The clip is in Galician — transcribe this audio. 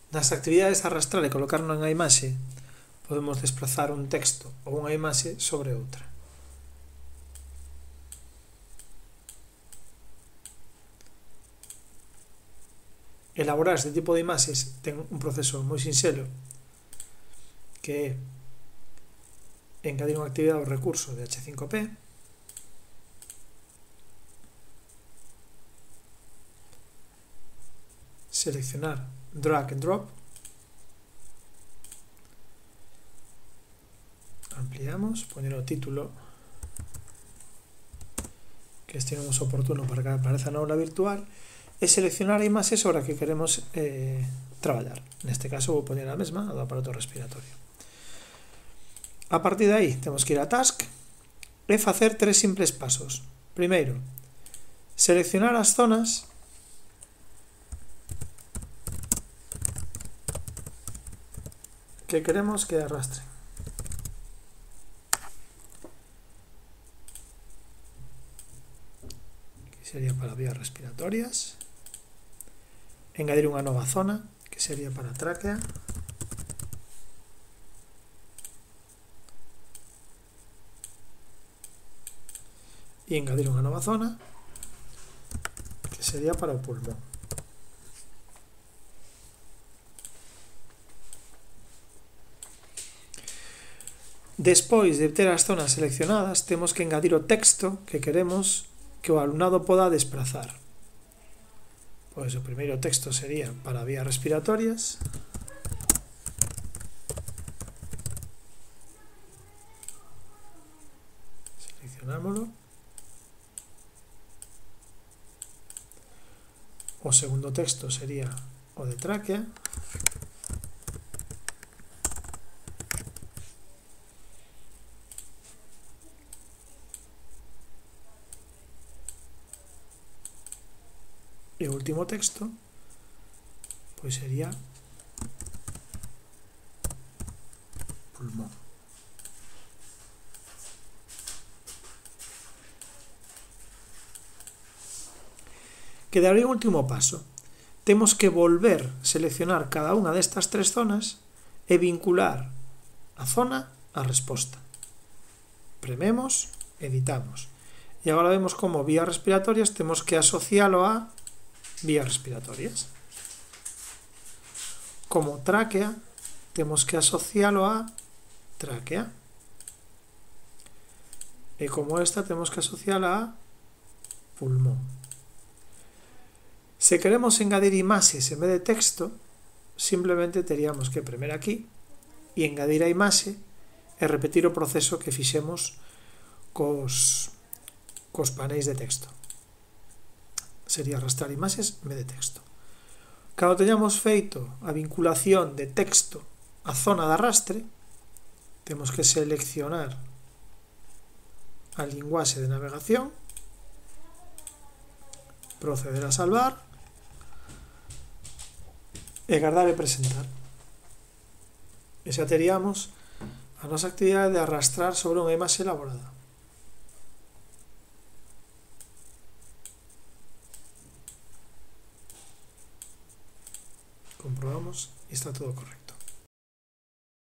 Nas actividades de arrastrar e colocar nunha imaxe, podemos desplazar un texto ou unha imaxe sobre outra. Elaborar este tipo de imaxes ten un proceso moi sinxelo, que é engadir unha actividade ao recurso de H5P, seleccionar drag and drop, ampliamos, poner o título que estimemos oportuno para que apareza na aula virtual e seleccionar a imaxe sobre a que queremos traballar. Neste caso vou poner a mesma, a do aparato respiratorio. A partir de aí temos que ir a Task e facer 3 simples pasos. Primeiro, seleccionar as zonas que queremos que arrastren. Que sería para vías respiratorias. Engadir unha nova zona, que sería para tráquea. E engadir unha nova zona, que sería para o pulmón. Despois de ter as zonas seleccionadas, temos que engadir o texto que queremos que o alumnado poda desplazar. Pois o primeiro texto sería para vías respiratorias. Seleccionámoslo. O segundo texto sería o de tráquea. E o último texto pois sería pulmón. Quedaría o último paso. Temos que volver a seleccionar cada unha destas 3 zonas e vincular a zona á resposta. Prememos, editamos. E agora vemos como vías respiratorias temos que asocialo a vías respiratorias. Como tráquea, temos que asocialo a tráquea. E como esta, temos que asociala a pulmón. Se queremos engadir imaxes en vez de texto, simplemente teríamos que premer aquí e engadir a imaxe e repetir o proceso que fixemos cos paneis de texto. Sería arrastrar imaxes en vez de texto. Cando teñamos feito a vinculación de texto á zona de arrastre, temos que seleccionar a linguaxe de navegación, proceder a salvar e guardar e presentar. E xa teríamos a nosa actividade de arrastrar sobre unha imaxe elaborada. Comprobamos e está todo correcto.